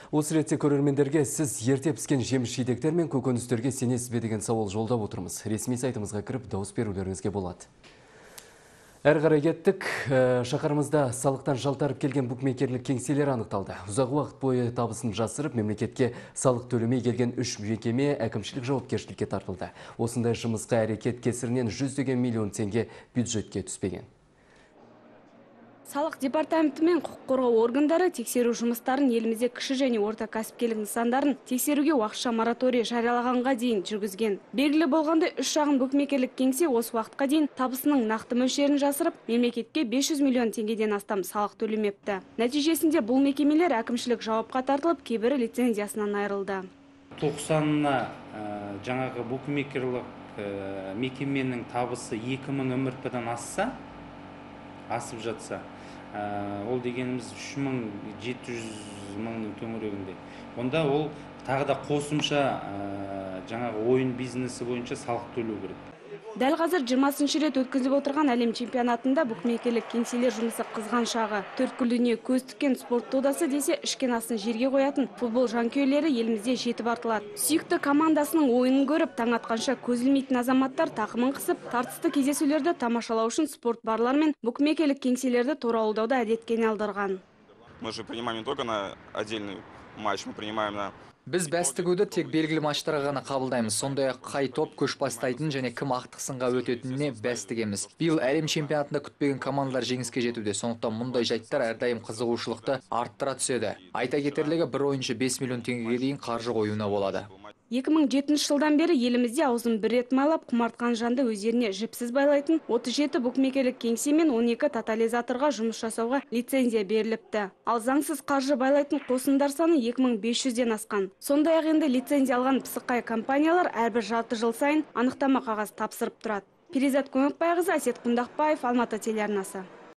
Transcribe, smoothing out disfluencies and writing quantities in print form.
Осы ретте көрермендерге сіз ерте піскен жеміс-жидектер мен көкөністерге сенесіз бе деген сауал жолдап отырмыз. Ресми сайтымызға кіріп дауыс берулеріңізге болады. Әрі қарай кеттік. Шақарымызда салықтан жалтарып келген букмекерлік кеңселер анықталды. Ұзақ уақыт бойы табысын жасырып, мемлекетке салық төлемей келген 3 мекеме әкімшілік жауапкершілікке тартылды. Осындай жұмысқа әрекет кесірінен жүздеген миллион теңге бюджетке түспеген. Салық департаменті мен құқық қорғау органдары тексеру жұмыстарын елімізде кіші және орта кәсіпкерлік нысандарын тексеруге уақытша мораторий жариялағанға дейін жүргізген. Белгілі болғандай, 3 шағын букмекерлік кеңсе осы уақытқа дейін табысының нақты мөлшерін жасырып, мемлекетке 500 миллион теңгеден астам салық төлемепті. Нәтижесінде бұл мекемелер әкімшілік жауапқа тартылып, кейбірі лицензиясынан айырылды. 90-на жаңағы букмекерлік мекеменің табысы 2000 МРП-дан асып жатса, ол дегеніміз 3700 мыңның төңірегінде. Онда ол тағы да қосымша жаңағы ойын бизнесі бойынша салық төлеу керек. Дәл қазір 20-шы рет өткізіліп отырған әлем чемпионатында букмекерлік кеңселер жұмысы қызған шағы. Төрткүл дүние көз тіккен спорт додасы десе, ішкен асын жерге қоятын футбол жанкүйерлері елімізде жетіп артылады. Сүйікті командасының ойынын көріп, таң атқанша көз ілмейтін азаматтар тақымын қысып, тартысты кездесулерді тамашалау үшін спорт барлар мен букмекерлік кеңселерді торауылдауда әдетке айналдырған. Мы же принимаем не только на отдельный матч, мы принимаем на... Біз бәстігуді тек белгілі матчтарға ғана қабылдаймыз. Сондай-ақ қай топ көш бастайтын және кім ақтық сынға өтетініне бәстігеміз. Биыл әлем чемпионатында күтпеген командалар жеңіске жетуде. Сондықтан мұндай жайттар әрдайым қызығушылықты арттыра түседі. Айта кетерлігі, бір ойыншы 5 миллион теңгеге дейін қаржы қоюына болады. 2007 жылдан бері елімізде аузын бір рет майлап құмартқан жанды өздеріне жіпсіз байлайтын 37 букмекерлік кеңсе мен 12 тотализаторға жұмыс жасауға лицензия беріліпті. Ал заңсыз қаржы байлайтын қосындар саны 2500-ден асқан. Сондай-ақ енді лицензия алған пысықай компаниялар әрбір жарты жыл сайын анықтама қағаз тапсырып тұрады. Перизат Көмекбайқызы, Әсет Құндақбаев, Алматы телеарнасы.